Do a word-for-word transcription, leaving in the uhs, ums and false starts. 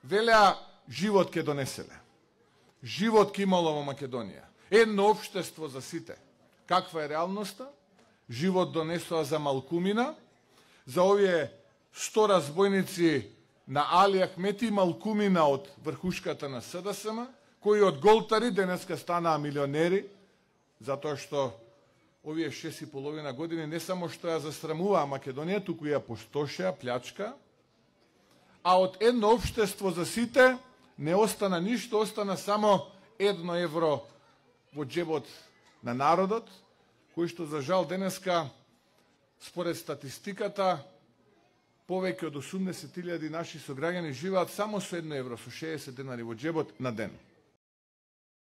велеа живот ке донеселе. Живот ке имало во Македонија. Едно општество за сите. Каква е реалноста? Живот донесоа за малкумина, за овие сто разбойници на Али Ахмети, малкумина од врхушката на СДСМ, кои од голтари денеска станаа милионери, затоа што овие шест и половина години не само што ја засрамуваа Македонија, туку ја пустошеа, плячка, а од едно општество за сите не остана ништо, остана само едно евро во џебот на народот, кој што за жал денеска, според статистиката, повеќе од осумдесет илјади наши сограѓани живеат само со едно евро, со шеесет денари во џебот на ден.